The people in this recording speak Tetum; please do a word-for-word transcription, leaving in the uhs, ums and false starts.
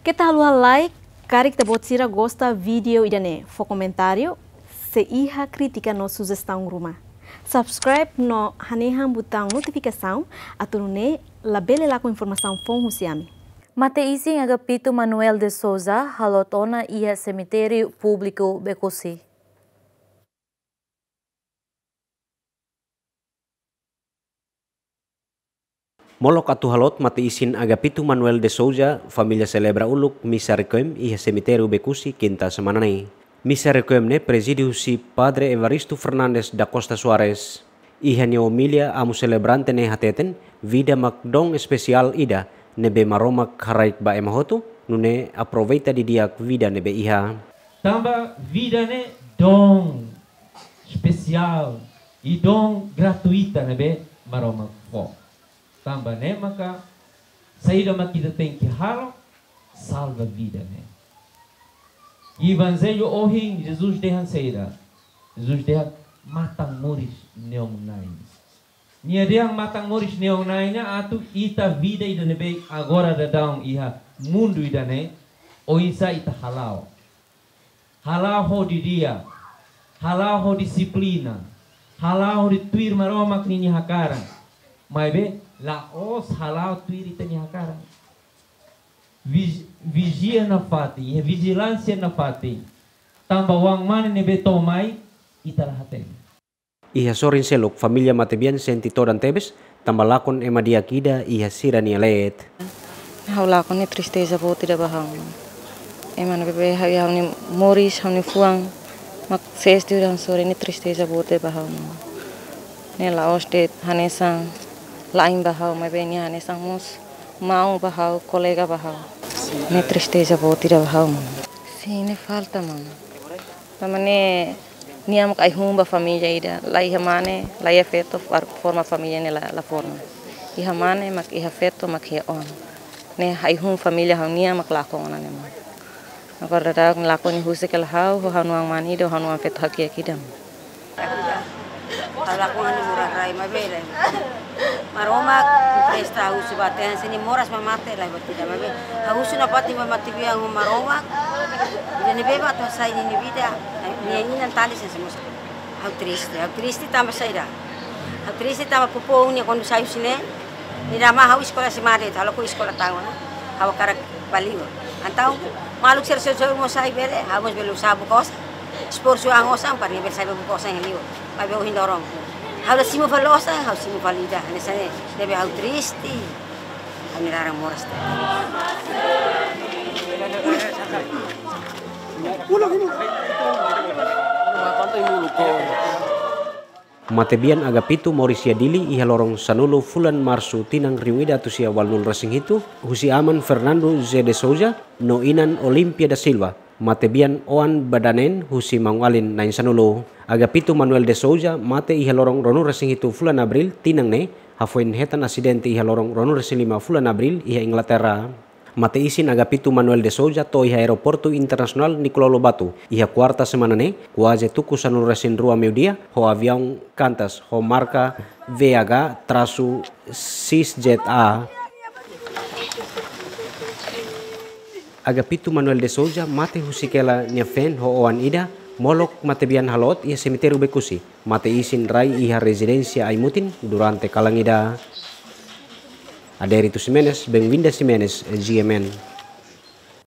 Keta haluha like, karik ita-boot sira gosta vídeo ida-ne'e, fó komentáriu, sei iha krítika no sujestaun ruma. Subscribe no hanehan butaun notifikasaun, atu nune'e labele lakon informasaun foun husi ami. Mate-isin Agapito Manuel de Souza haloot ona iha semitériu públiku Becusse. Molok atu haloot mate-isin Agapito Manuel de Souza, família selebra uluk misa requiem iha semitériu Becusse, kinta semana ne'e. Misa requiem ne'e prezide husi Padre Evaristo Fernandes da Costa Soares. Iha nia omilia, amu selebrante ne'e hateten, vida mak dom espesiál ida ne'ebé Maromak haraik ba ema hotu, nune'e aproveita didi'ak vida ne'ebé iha. Tanba vida ne'e dom espesiál i dom gratuita ne'ebé Maromak fó. Tanba ne'e maka saida mak ita tenke halo, salva vida ne'e. Evanjellu ohin Jesus dehan saida? Jesus dehan matan moris neon na'in. Nia dehan matan moris neon na'in ne'e atu ita vida ida ne'ebé agora daudaun iha mundu ida-ne'e, oinsá ita hala'o. Hala'o ho didi'ak, hala'o ho dixiplina, hala'o hodi tuir Maromak ninia hakarak. Maibé la'ós hala'o tuir ita-nia hakarak. Vij-, vijia nafatin, iha vijilánsia nafatin. Tanba oan-mane ne'ebé to'o mai, ita la hatene. Iha sorin seluk, família matebian sente todan tebes, tanba lakon ema di'ak ida iha sira-nia leet. Ha'u lakon ne'e tristeza boot ida ba ha'u. Ema ne'ebé ha'u, ha'u-nia moris, ha'u-nia fuan mak sees tiha ona sorin ne'e, tristeza boot ida ba ha'u. Ne'e la'ós de'it hanesan la'en ba ha'u, maibé nia hanesan mós maun ba ha'u, kolega ba ha'u. Ne'e tristeza boot ida ba ha'u, maun. Sin, ne'e falta, maun. Tanba ne'e nia mak ai-hun ba família ida, la iha mane, la iha feto, far-, forma família ne'e la, la forma. Iha mane mak iha feto mak iha oan. Ne'e ai-hun família ha'u-nian mak lakon ona ne'e, maun. Agora daudaun lakon ne'e husik hela ha'u, ho ha'u-nia oan-mane ida, ho ha'u-nia oan feto hakiak ida, maun. Ha'u lakon ne'e moras rai, maibé lae. Maromak empresta husu ba ita, hanesan ne'e moras mak mate lae, buat ida, maibé ha'u husu nafatin ba matebian ho Maromak. Ida ne'ebé mak atu hasai ninia vida. Nia inan tali hanesan ne'e mós. Ha'u triste, ha'u triste tanba saida? Ha'u triste tanba povu nia kuandu sai husi ne'e, nia dehan mai ha'u eskola, se made, halo ku eskola tau ona. Ha'u hakarak bá li'ur. Entaun maluk sira sosa mós sai bele, ha'u mós bele usaha buka osan. Esforsu an osan para nia bele sai buka osan iha li'ur. Maibé ohin loron ha'u la simu fali osan, ha'u simu fali ida. Hanesan ne'e, ne'ebé ha'u triste. Ha'u-nia laran moras. Matebian Agapito moris iha Dili iha loron sanulu fulan Marsu tinan rihun ida atus sia ualunulu resin hitu, husi aman Fernando José de Souza no inan Olimpia da Silva, matebian oan ba danen husi maun-alin na'in-sanulu. Agapito Manuel de Souza mate iha loron ruanulu resin hitu fulan Abríl tinan ne'e, hafoin hetan asidente iha loron ruanulu resin lima fulan Abríl iha Inglaterra. Mate-isin Agapito Manuel de Souza to'o iha Aeroportu Internasionál Nicolau Lobato iha kuarta semana ne'e, kuaze tuku sanulu resin rua meiudia, ho aviaun Qantas ho marka V H trasu X Z A. Agapito Manuel de Souza mate husik hela nia feen ho oan ida, molok matebian haloot iha semitériu Becusse. Mate-isin rai iha rezidénsia ai-mutin durante kalan ida. Adérito Ximenes, Benvinda Ximenes, G M N.